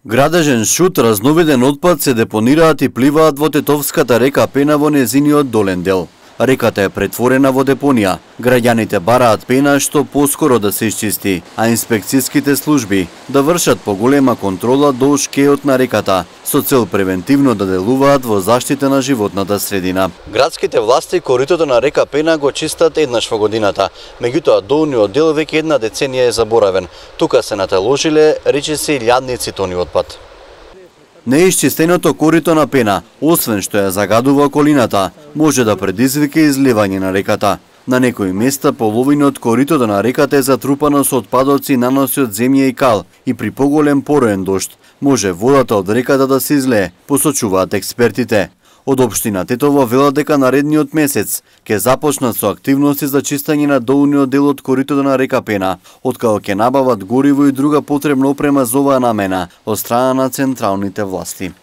Градежен шут, разновиден отпад се депонираат и пливаат во тетовската река Пена во незиниот долен дел. Реката е претворена во депонија. Граѓаните бараат пена што поскоро да се исчисти, а инспекцијските служби да вршат поголема контрола долж кејот на реката, со цел превентивно да делуваат во заштита на животната средина. Градските власти коритото на река Пена го чистат еднаш во годината, меѓутоа долниот дел веќе една деценија е заборавен. Тука се наталожиле речиси илјадници тони отпад. Неисчистеното корито на Пена, освен што ја загадува околината, може да предизвика изливање на реката. На некои места половина од коритото на реката е затрупано со отпадоци, наноси од земја и кал, и при поголем пороен дожд може водата од реката да се излее, посочуваат експертите. Од општина Тетово велат дека наредниот месец ќе започнат со активности за чистење на долниот дел од коритото на река Пена, откако ќе набават гориво и друга потребна опрема за оваа намена од страна на централните власти.